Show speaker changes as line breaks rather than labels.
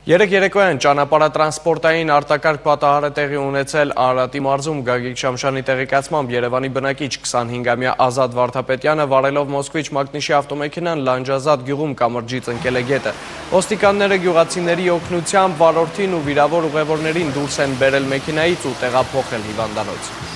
Երեկ երեկոյան ճանապարհատրանսպորտային արտակարգ պատահար է տեղի ունեցել Արարատի մարզում Գագիկ Շամշյանի տեղեկացմամբ երևանի բնակիչ 25-ամյա Ազատ Վարդապետյանը վարելով Մոսկվիչ-Մագնիշի ավտոմեքենան Լանջազատ գյուղում կամրջից ընկել է գետը։ Ոստիկանները գյուղացիների օգնությամբ վարորդին ու վիրավոր ուղևորներին դուրս են բերել մեքենայից ու տեղափոխել հիվանդանոց։